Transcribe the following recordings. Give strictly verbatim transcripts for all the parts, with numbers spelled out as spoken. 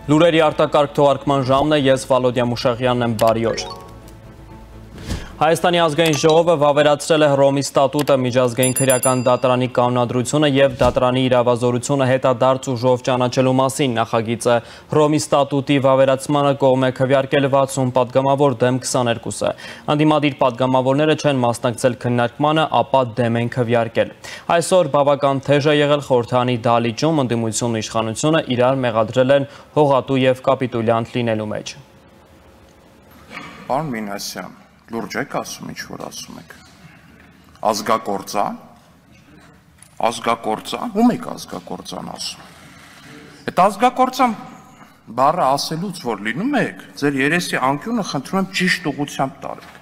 Լուրերի արտակարգ թողարկման ժամն է, ես Վալոդիա Մուշաղյանն եմ, բարի օր։ Հայաստանի ազգային ժողովը վավերացրել է Հռոմի ստատուտը, միջազգային քրեական դատարանի կանոնադրությունը եւ դատարանի իրավազորությունը հետադարձ ուժով ճանաչելու մասին նախագիծը Հռոմի ստատուտի վավերացմանը կողմ է քվեարկել վաթսուն պատգամավոր դեմ քսաներկուսը։ Անդիմադիր պատգամավորները չեն մասնակցել քննարկմանը, ապա դեմ են քվեարկել։ Այսօր բավական թեժ է եղել խորհրդանի դահլիճում, ընդդիմությունն ու իշխանությունը իրար մեղադրել են հողատու եւ կապիտուլյանտ լինելու մեջ։ Պարոն Մինասյան, լուրջ եք ասում, ինչ որ ասում եք, ազգակործան, ազգակործան, ում եք ազգակործան ասում, այդ ազգակործան բառը ասելուց որ լինում եք, ձեր երեսի անկյունը խնդրում եմ ճիշտ ուղղությամբ տարեք,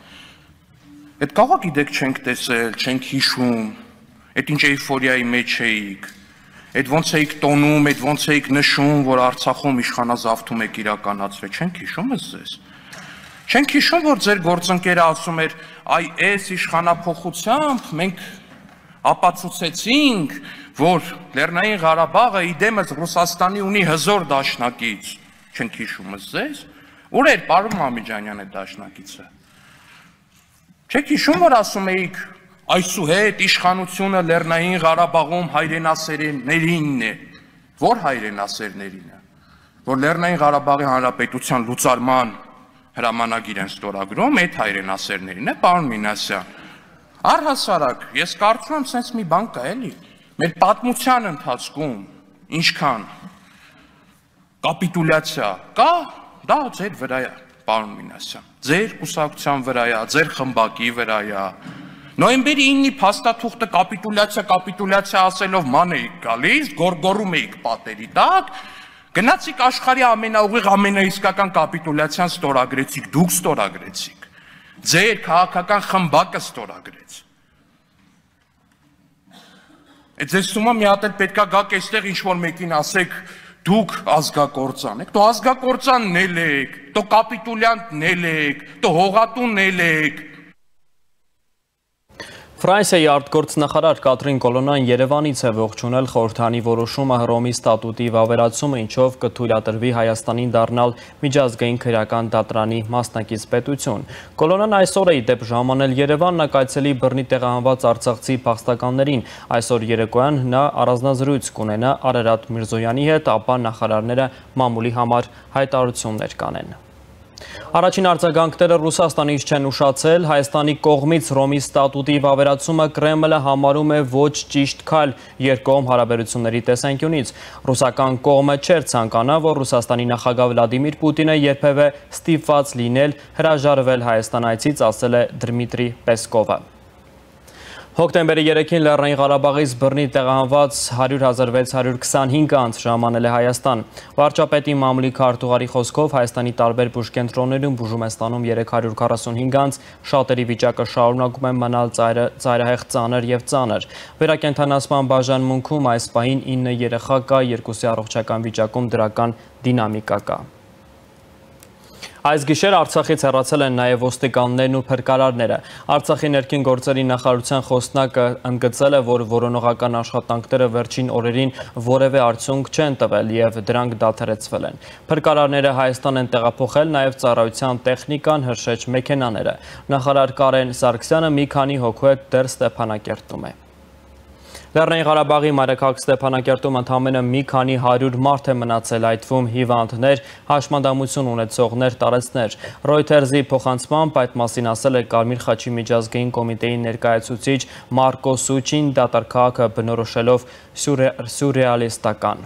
այդ կաղա գիտեք չենք տեսել, չենք հիշում, այդ ինչ էյֆորիայի մեջ էիք, այդ ոնց էիք տոնում, այդ ոնց էիք նշում, որ Արցախում իշխանազավթում եք իրականացրել, չենք հիշում ես ձեզ։ Չենք հիշում, որ ձեր գործընկերը ասում էր, այ այս իշխանափոխությամբ մենք ապացուցեցինք, որ Լեռնային Ղարաբաղը իդեմս Ռուսաստանի ունի հզոր դաշնակից։ Չենք հիշում ձեզ։ Ուր էր պարոն Մամիջանյան այդ դաշնակիցը։ Չեք հիշում, որ ասում էիք, այսուհետ իշխանությունը Լեռնային Ղարաբաղում հայրենասերներինն է։ Որ հայրենասերներինը, որ Լեռնային Ղարաբաղի Հանրապետության լուծարման հրամանագիր են ստորագրում, այդ հայրենասերներին է, պարոն Մինասյան։ Առհասարակ, ես կարծում եմ, սենց մի բան կա, էլի, մեր պատմության ընթացքում ինչքան կապիտուլյացիա կա, դա ձեր վրա է, պարոն Մինասյան, ձեր կուսակցության վրա է, ձեր խմբակի վրա է։ Նոյեմբերի իննի փաստաթուղթը կապիտուլյացիա, կապիտուլյացիա ասելով ման էիք գալիս, գորգորում էիք պատերի տակ, գնացիք աշխարհի ամենաուղիղ ամենաիսկական կապիտուլյացիան ստորագրեցիք, դուք ստորագրեցիք, ձեր քաղաքական խմբակը ստորագրեց։ Այդ ձեզ թվում է մի հատ էլ պետքա գաք այստեղ ինչ-որ մեկին ասեք, դուք ազգակործան եք, դու ազգակործանն էլ եք, դու կապիտուլյանտն էլ եք, դու հողատուն էլ եք։ Ֆրանսիայի արտգործնախարար Կատրին Կոլոննան Երևանից է ողջունել խորհրդանի որոշումը Հռոմի ստատուտի վավերացումը, ինչով կթույլատրվի Հայաստանին դառնալ միջազգային քրեական դատարանի մասնակից պետություն։ Կոլոննան այսօր է ի դեպ ժամանել Երևան, նա կայցելի բռնի տեղահանված արցախցի փախստականներին։ Այսօր երեկոյան նա առանձնազրույց կունենա Արարատ Միրզոյանի հետ, ապա նախարարները մամուլի համար հայտարարություններ կանեն։ Առաջին արձագանքները Ռուսաստանից չեն ուշացել, Հայաստանի կողմից Հռոմի ստատուտի վավերացումը Կրեմլը համարում է ոչ ճիշտ քայլ երկկողմ հարաբերությունների տեսանկյունից։ Ռուսական կողմը չէր ցանկանա, որ Ռուսաստանի նախագահ Վլադիմիր Պուտինը երբևէ ստիպված լինել հրաժարվել Հայաստան այցից, ասել է Դմիտրի Պեսկովը։ Հոկտեմբերի երեքին Լեռնային Ղարաբաղից բռնի տեղահանված հարյուր հազար վեց հարյուր քսանհինգ անձ ժամանել է Հայաստան։ Վարչապետի մամուլի քարտուղարի խոսքով Հայաստանի տարբեր բուժկենտրոններում բուժում է ստանում երեք հարյուր քառասունհինգ անձ, շատերի վիճակը շարունակում է մնալ ծայրահեղ ծանր եւ ծանր։ Վերակենդանացման բաժանմունքում այս պահին ինը երեխա կա, երկուսի առողջական վիճակում դրական դինամիկա կա։ Այս գիշեր Արցախից հեռացել են նաև ոստիկաններն ու փրկարարները։ Արցախի ներքին գործերի նախարարության խոսնակը ընդգծել է, որ որոնողական աշխատանքները վերջին օրերին որևէ արդյունք չեն տվել եւ դրանք դադարեցվել են։ Փրկարարները Հայաստան են տեղափոխել նաև ծառայության տեխնիկան, հրշեջ մեքենաները։ Նախարար Կարեն Սարգսյանը մի քանի հոգու հետ դեռ Ստեփանակերտում է։ Լեռնային Ղարաբաղի մայրաքաղաք Ստեփանակերտում ընդամենը մի քանի հարյուր մարդ է մնացել, այդ թվում հիվանդներ, հաշմանդամություն ունեցողներ, տարեցներ։ Ռոյթերզի փոխանցմամբ այդ մասին ասել է Կարմիր խաչի միջազգային կոմիտեի ներկայացուցիչ Մարկո Սուչին, դատարկահակը բնորոշելով սյուրռեալիստական։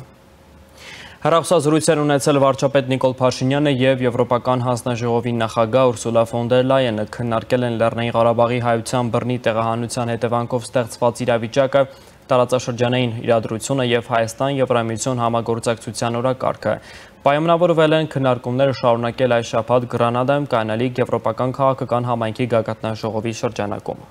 Հեռախոսազրույցներ ունեցել վարչապետ Նիկոլ Փաշինյանը եւ Եվրոպական հանձնաժողովի նախագահ Ուրսուլա ֆոն դեր Լայենը քննարկել են Լեռնային Ղարաբաղի հայության բռնի տեղահանության հետևանքով ստեղծված իրավիճակը, տարածաշրջանային իրադրությունը եւ Հայաստան-Եվրամիություն համագործակցության օրակարգը։ Պայմանավորվել են քննարկումները շարունակել այս շաբաթ Գրանադայում կայանալիք Եվրոպական քաղաքական համայնքի գագաթնաժողովի շրջանակում։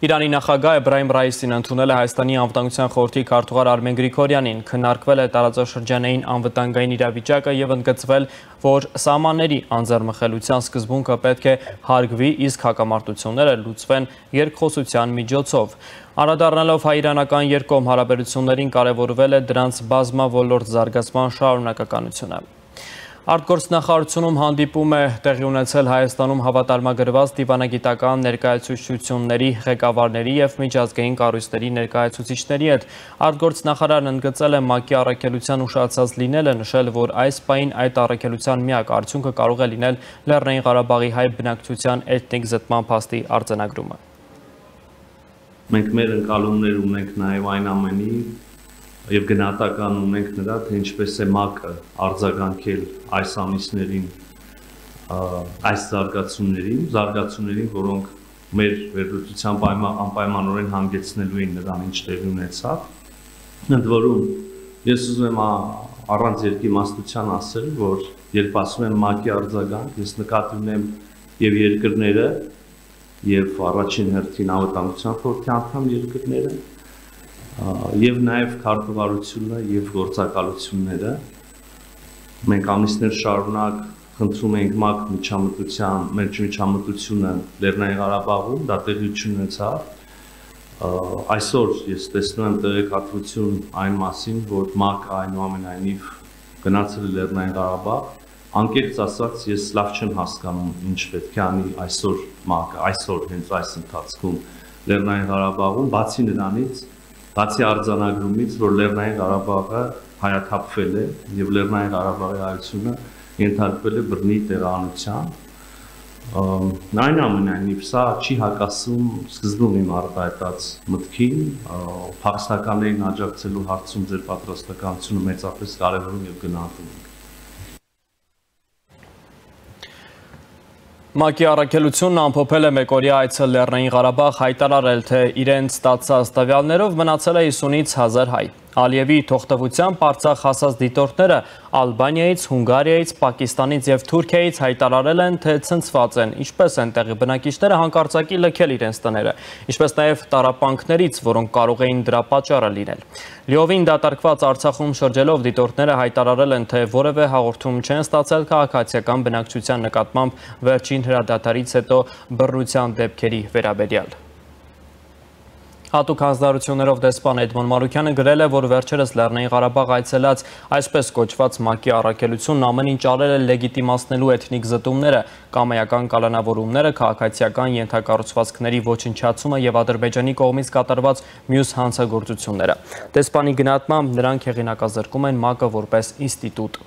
Իրանի նախագահ Էբրահիմ Ռայիսին ընդունել է Հայաստանի անվտանգության խորհրդի քարտուղար Արմեն Գրիգորյանին, քննարկվել է տարածաշրջանային անվտանգային իրավիճակը եւ ընդգծվել, որ սահմանների անձեռմխելիության սկզբունքը պետք է հարգվի, իսկ հակամարտությունները լուծվեն երկխոսության միջոցով։ Անդրադառնալով հայ-իրանական երկկողմ հարաբերություններին կարևորվել է դրանց բազմաոլորտ զարգացման շարունակականությունը։ Արտգործնախարարությունում հանդիպում է տեղի ունեցել Հայաստանում հավատարմագրված դիվանագիտական ներկայացուցչությունների ղեկավարների եւ միջազգային կառույցների ներկայացուցիչների հետ։ Արտգործնախարարն ընդգծել է ՄԱԿ-ի առաքելության ուշացած լինելը, նշել, որ այս պահին այդ առաքելության միակ արդյունքը կարող է լինել Լեռնային Ղարաբաղի հայ բնակչության էթնիկ զտման փաստի արձանագրումը։ Մենք մեր ընկալումներ ունենք նաեւ այն ամենի եւ գնահատական ունենք նրա, թե ինչպես է ՄԱԿ-ը արձագանքել այս ամիսներին այս զարգացումներին, զարգացումներին, որոնք մեր վերլուծության անպայմանորեն հանգեցնելու են նրան, ինչ տեղի ունեցավ։ Ընդ որում, ես ուզում եմ առանց երկիմաստության ասել, որ երբ ասում եմ ՄԱԿ-ի արձագանք, ես նկատի ունեմ եւ երկրները, եւ առաջին հերթին անվտանգության խորհրդի անդամ երկրները, եւ նաեւ քարտուղարությունը եւ գործակալությունները։ Մենք ամիսներ շարունակ խնդրում ենք ՄԱԿ միջամտության, մեր միջամտությունը Լեռնային Ղարաբաղում, դա տեղություն ունեցավ։ Այսօր ես տեսնում եմ տեղեկատվություն այն մասին, որ ՄԱԿ-ը այնուամենայնիվ գնացել է Լեռնային Ղարաբաղ։ Անկեղծ ասած, ես լավ չեմ հասկանում, ինչ պետք է անի այսօր ՄԱԿ-ը, այսօր հենց այս ընթացքում Լեռնային Ղարաբաղում, բացի նրանից, բացի արձանագրումից, որ Լեռնային Ղարաբաղը հայաթափվել է եւ Լեռնային Ղարաբաղի հայությունը ենթարկվել է բռնի տեղանության։ Այնուամենայնիվ սա չի հակասում սկզբում իմ արտահայտած մտքին, փախստականներին աջակցելու հարցում ձեր պատրաստականությունը մեծապես կարևորում եւ գնահատում ենք։ ՄԱԿ-ի առաքելությունն ամփոփել է մեկօրյա այցը Լեռնային Ղարաբաղ, հայտարարել, թե իրենց ստացած տվյալներով մնացել է հիսունից հազար հայ։ Ալիևի թողտվությամբ Արցախ հասած դիտորդները Ալբանիայից, Հունգարիայից, Պակիստանից եւ Թուրքիայից հայտարարել են, թե ցնցված են, ինչպես են տեղի բնակիչները հանկարծակի լքել իրենց տները, ինչպես նաեւ տառապանքներից, որոնք կարող էին դրա պատճառը լինել։ Լիովին դատարկված Արցախում շրջելով դիտորդները հայտարարել են, թե որևէ հաղորդում չեն ստացել քաղաքացիական բնակչության նկատմամբ վերջին հրադադարից հետո բռնության դեպքերի վերաբերյալ։ Հատուկ հանձնարարություններով դեսպան Էդմոն Մարուքյանը գրել է, որ վերջերս Լեռնային Ղարաբաղ այցելած այսպես կոչված ՄԱԿ-ի առաքելությունն ամեն ինչ արել է լեգիտիմացնելու էթնիկ զտումները, կամայական կալանավորումները, քաղաքացիական ենթակառուցվածքների ոչնչացումը եւ Ադրբեջանի կողմից կատարված մյուս հանցագործությունները։ Դեսպանի գնահատմամբ նրանք հեղինակազրկում են ՄԱԿ-ը որպես ինստիտուտ։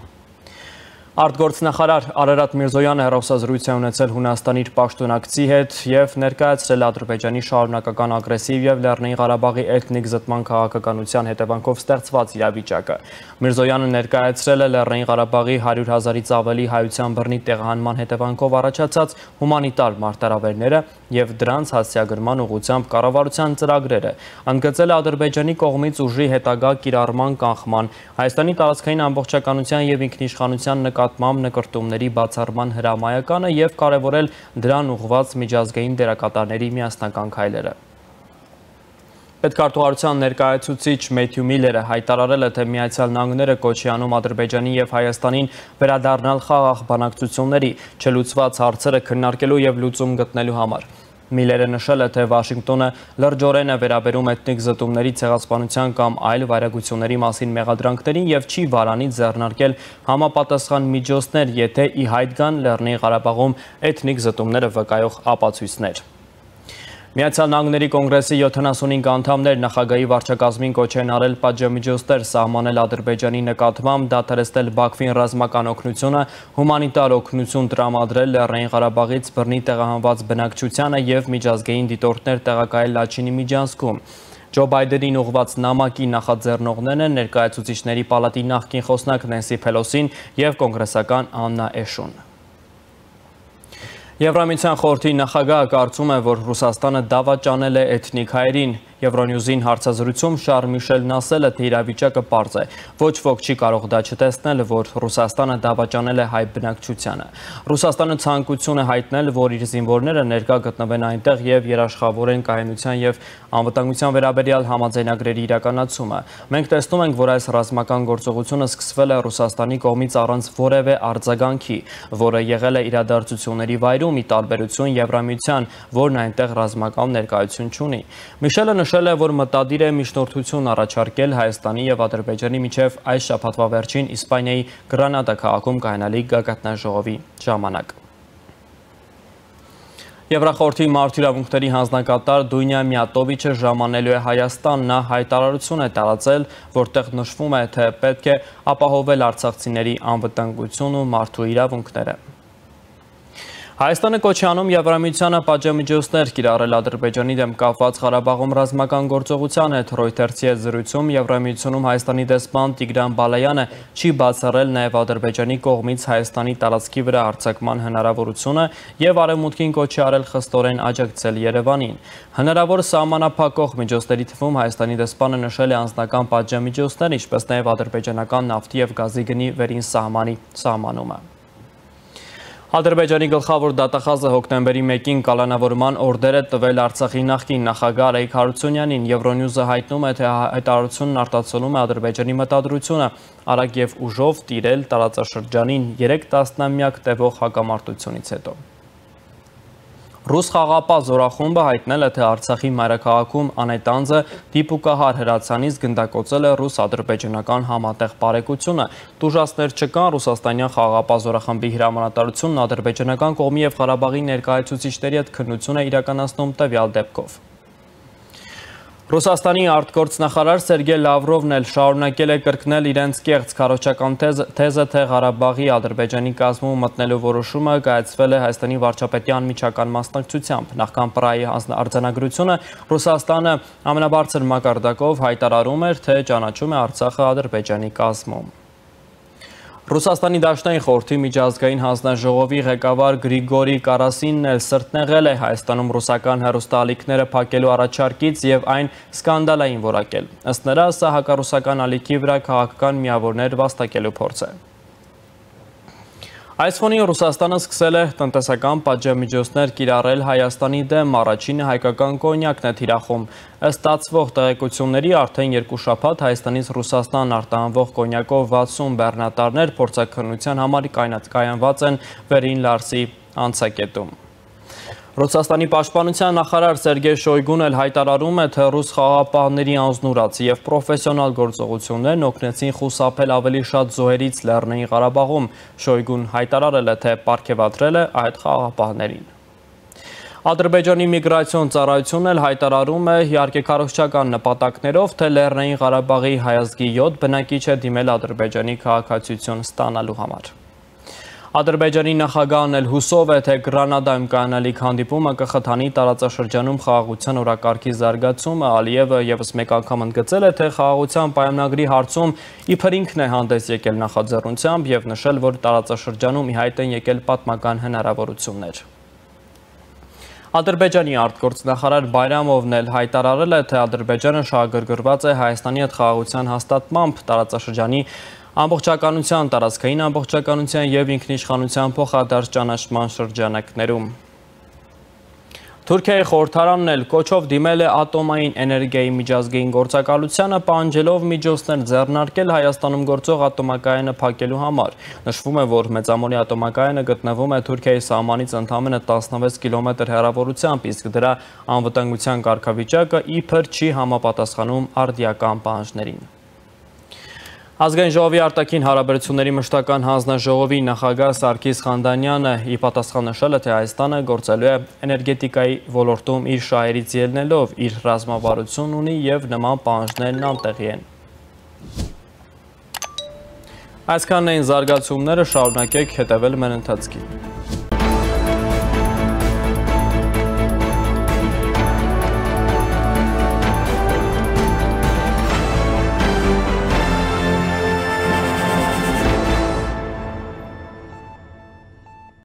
Արտգործնախարար Արարատ Միրզոյանը հեռախոսազրույց է ունեցել Հունաստանի իր պաշտոնակցի հետ եւ ներկայացրել Ադրբեջանի շարունակական ագրեսիվ եւ Լեռնային Ղարաբաղի էթնիկ զտման քաղաքականության հետևանքով ստեղծված իրավիճակը։ Միրզոյանը ներկայացրել է Լեռնային Ղարաբաղի հարյուր հազարից ավելի հայության բռնի տեղահանման հետևանքով առաջացած հումանիտար մարտահրավերները եւ դրանց հասցեագրման ուղղությամբ կառավարության ծրագրերը։ Ընդգծել է Ադրբեջանի կողմից ուժի հետագա կիրառման կանխման, Հայաստանի տարածքային ամբողջականության եւ ինքնիշխանության նկատմամբ նկրտումների բացառման հրամայականը եւ կարևորել դրան ուղղված միջազգային դերակատարների միասնական քայլերը։ Պետքարտուղարության ներկայացուցիչ Մեթյու Միլլերը հայտարարել է, թե Միացյալ Նահանգները կոչի անում Ադրբեջանի եւ Հայաստանին վերադառնալ խաղաղ բանակցությունների, չլուծված հարցերը քննարկելու եւ լուծում գտնելու համար։ Միլլերը նշել է, թե Վաշինգտոնը լրջորեն է վերաբերում էթնիկ զտումների ցեղասպանության կամ այլ վայրագությունների մասին մեղադրանքներին եւ չի վարանի ձեռնարկել համապատասխան միջոցներ, եթե ի հայտ գան Լեռնային Ղարաբաղում էթնիկ զտումները վկայող ապացույցներ։ Միացյալ Նահանգների կոնգրեսի յոթանասունհինգ անդամներ նախագահի վարչակազմին կոչ են արել պատժամիջոցներ սահմանել Ադրբեջանի նկատմամբ, դադարեցնել Բաքվին ռազմական օգնությունը, հումանիտար օգնություն տրամադրել Լեռնային Ղարաբաղից բռնի տեղահանված բնակչությանը եւ միջազգային դիտորդներ տեղակայել Լաչինի միջանցքում։ Ջո Բայդենին ուղղված նամակի նախաձեռնողներն են ներկայացուցիչների պալատի նախկին խոսնակ Նենսի Փելոսին եւ կոնգրեսական Աննա Էշուն։ Եվրամիության խորհրդի նախագահը կարծում է, որ Ռուսաստանը դավաճանել է էթնիկ հայերին, Եվրոնյուզին հարցազրույցում Շարլ Միշելն ասել է, թե իրավիճակը պարզ է։ Ոչ ոք չի կարող դա չտեսնել, որ Ռուսաստանը դավաճանել է հայ բնակչությանը։ Ռուսաստանը ցանկություն է հայտնել, որ իր զինվորները ներկա գտնվեն այնտեղ եւ երաշխավորեն կայունության եւ անվտանգության վերաբերյալ համաձայնագրերի իրականացումը։ Մենք տեսնում ենք, որ այս ռազմական գործողությունը սկսվել է Ռուսաստանի կողմից առանց որևէ արձագանքի, որը եղել է իրադարձությունների վայրում, ի տարբերություն Եվրամիության, որն այնտեղ ռազմական ներկայություն չունի։ Միշելը նշել է, որ մտադիր է միջնորդություն առաջարկել Հայաստանի եւ Ադրբեջանի միջև այս շաբաթվա վերջին Իսպանիայի Գրանադա քաղաքում կայանալիք գագաթնաժողովի ժամանակ։ Եվրախորհրդի մարդու իրավունքների հանձնակատար Դունյա Միատովիչը ժամանելու է Հայաստան, նա հայտարարություն է տարածել, որտեղ նշվում է, թե պետք է ապահովել արցախցիների անվտանգությունն ու մարդու իրավունքները։ Հայաստանը կոչ է անում Եվրամիությանը պատժամիջոցներ կիրառել Ադրբեջանի դեմ կապված Ղարաբաղում ռազմական գործողության հետ։ Ռոյթերսի հետ զրույցում Եվրամիությունում Հայաստանի դեսպան Տիգրան Բալայանը չի բացառել նաև Ադրբեջանի կողմից Հայաստանի տարածքի վրա հարձակման հնարավորությունը եւ Արևմուտքին կոչ է արել խստորեն աջակցել Երևանին։ Հնարավոր սահմանափակող միջոցների թվում Հայաստանի դեսպանը նշել է անձնական պատժամիջոցներ, ինչպես նաև ադրբեջանական նավթի եւ գազի գնի վերին սահմանի սահմանումը։ Ադրբեջանի գլխավոր դատախազը հոկտեմբերի մեկին կալանավորման օրդեր է տվել Արցախի նախկին նախագահ Արայիկ Հարությունյանին։ Եվրոնյուզը հայտնում է, թե հայտարարությունն արտացոլում է Ադրբեջանի մտադրությունը արագ եւ ուժով տիրել տարածաշրջանին երեք տասնամյակ տևող հակամարտությունից հետո։ Ռուս խաղապահ զորախումբը հայտնել է, թե Արցախի մայրաքաղաքում անետանձը դիպուկահար հրացանից գնդակոծել է ռուս-ադրբեջանական համատեղ բարեկությունը։ Տուժածներ չկան, ռուսաստանյան խաղապահ զորախմբի հրամանատարությունն ադրբեջանական կողմի եւ Ղարաբաղի ներկայացուցիչների հետ քննություն է իրականացնում տվյալ դեպքով։ Ռուսաստանի արտգործնախարար Սերգեյ Լավրովն էլ շարունակել է կրկնել իրենց կեղծ քարոզչական թեզը, թե Ղարաբաղի Ադրբեջանի կազմում մտնելու որոշումը կայացվել է Հայաստանի վարչապետի անմիջական մասնակցությամբ։ Նախքան Պրահայի արձանագրությունը Ռուսաստանը ամենաբարձր մակարդակով հայտարարում էր, թե ճանաչում է Արցախը Ադրբեջանի կազմում։ Ռուսաստանի Դաշնային խորհրդի միջազգային հանձնաժողովի ղեկավար Գրիգորի Կարասինն էլ սրտնեղել է Հայաստանում ռուսական հեռուստաալիքները փակելու առաջարկից եւ այն սկանդալային որակել։ Ըստ նրա, սա հակառուսական ալիքի վրա քաղաքական միավորներ վաստակելու փորձ է։ Այս ֆոնին Ռուսաստանը սկսել է տնտեսական պատժամիջոցներ կիրառել Հայաստանի դեմ, առաջինը հայկական կոնյակն է թիրախում։ Ըստ ստացվող տեղեկությունների արդեն երկու շաբաթ Հայաստանից Ռուսաստան արտահանվող կոնյակով վաթսուն բեռնատարներ փորձաքննության համար կայանված են Վերին Լարսի անցակետում։ Ռուսաստանի պաշտպանության նախարար Սերգեյ Շոյգուն էլ հայտարարում է, թե ռուս խաղապահների անձնուրաց եւ պրոֆեսիոնալ գործողություններն օգնեցին խուսափել ավելի շատ զոհերից Լեռնային Ղարաբաղում։ Շոյգուն հայտարարել է, թե պարգևատրել է այդ խաղապահներին։ Ադրբեջանի միգրացիոն ծառայությունն էլ հայտարարում է, իհարկե քարոզչական նպատակներով, թե Լեռնային Ղարաբաղի հայազգի յոթ բնակիչ է դիմել Ադրբեջանի քաղաքացիություն ստանալու համար։ Ադրբեջանի նախագահն էլ հուսով է, թե Գրանադայում կայանալիք հանդիպումը կխթանի տարածաշրջանում խաղաղության օրակարգի զարգացումը։ Ալիևը եւս մեկ անգամ ընդգծել է, թե խաղաղության պայմանագրի հարցում իբր ինքն է հանդես եկել նախաձեռնությամբ եւ նշել, որ տարածաշրջանում ի հայտ են եկել պատմական հնարավորություններ։ Ադրբեջանի արտգործնախարար Բայրամովն էլ հայտարարել է, թե Ադրբեջանը շահագրգռված է Հայաստանի հետ խաղաղության հաստատմամբ տարածաշրջանի ամբողջականության, տարածքային ամբողջականության եւ ինքնիշխանության փոխադարձ ճանաչման շրջանակներում։ Թուրքիայի խորհրդարանն էլ կոչով դիմել է ատոմային էներգիայի միջազգային գործակալությանը, պահանջելով միջոցներ ձեռնարկել Հայաստանում գործող ատոմակայանը փակելու համար։ Նշվում է, որ Մեծամորի ատոմակայանը գտնվում է Թուրքիայի սահմանից ընդամենը տասնվեց կիլոմետր հեռավորությամբ, իսկ դրա անվտանգության կարգավիճակը իբր չի համապատասխանում արդիական պահանջներին։ Ազգային ժողովի արտաքին հարաբերությունների մշտական հանձնաժողովի նախագահ Սարգիս Խանդանյանը ի պատասխան նշել է, թե Հայաստանը գործելու է էներգետիկայի ոլորտում իր շահերից ելնելով, իր ռազմավարություն ունի եւ նման պահանջներն անտեղի են։ Այսքանն էին զարգացումները, շարունակեք հետևել մեր ընթացքին։